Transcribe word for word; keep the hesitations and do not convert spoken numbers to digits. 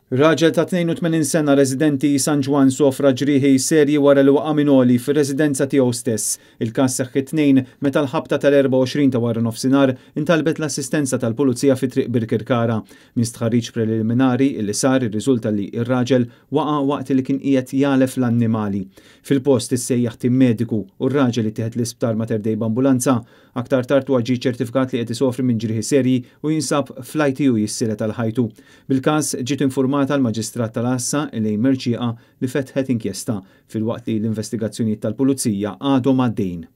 Raġel ta' tnejn u tmenin sena residenti San Ġwann sofra ġrieħi serji wara li waqa' minn għoli fir-residenza tiegħu stess. Il-każ seħħ it-Tnejn meta l-ħabta tal-erbgħa u għoxrin ta' wara nofsinhar intalbet l-assistenza tal-pulizija fi Triq Birkirkara. Minn stħarriġ preliminari li sar, irriżulta li ir-raġel waqa' waqt li kien qiegħed jagħlef l-annimali. Fil-post issejjaħ tim mediku u r-raġel ittieħed l-isptar Mater Dei b'ambulanza. Aktar tard huwa ġie ċertifikat li qed isofri minn ġrieħi serji u jinsab fl-I T U jissieled għal ħajtu. Bil-każ ġiet informata l-Maġistrat tal-Għassa Elaine Mercieca, li fetħet inkjesta, filwaqt li l-investigazzjonijiet tal-Pulizija għadhom għaddejn.